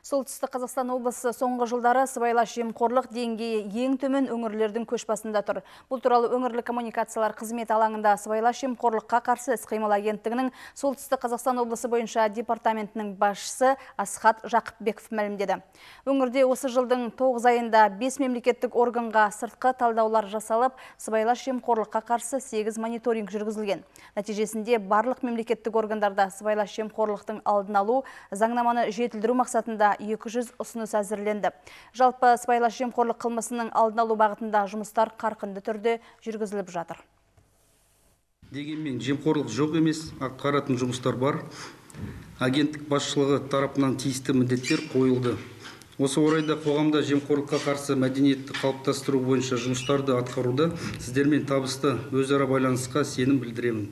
Солтүстік Қазақстан облысы соңғы жылдары сыбайлас жемқорлық деңгейі ең төмен өңірлердің көшбасында тұр. Бұл туралы өңірлік коммуникациялар қызметі алаңында сыбайлас жемқорлыққа қарсы іс-қимыл агенттігінің Солтүстік Қазақстан облысы бойынша департаментінің басшысы Асхат Жақыпбеков мәлімдеді. Өңірде осы жылдың 9 айында 5 мемлекеттік органға сыртқы талдаулар жасалып, сыбайлас жемқорлыққа қарсы 8 мониторинг жүргізілген. Нәтижесінде барлық мемлекеттік органдарда сыбайлас жемқорлықтың алдын алу, заңнаманы жетілдіру мақсатында 200 ұсыныс әзірленді. Жалпы сыбайлас жемқорлық қылмысының алдын алу бағытында жұмыстар қарқынды түрде жүргізіліп жатыр. Дегенмен жемқорлық жоқ емес, атқаратын жұмыстар бар. Агенттік басшылығы тарапынан тиісті міндеттер қойылды. Осы орайда қоғамда жемқорлыққа қарсы мәдениетті қалыптастыру бойынша жұмыстарды атқаруда сіздермен табысты өзара байланысқа сенім білдіремін.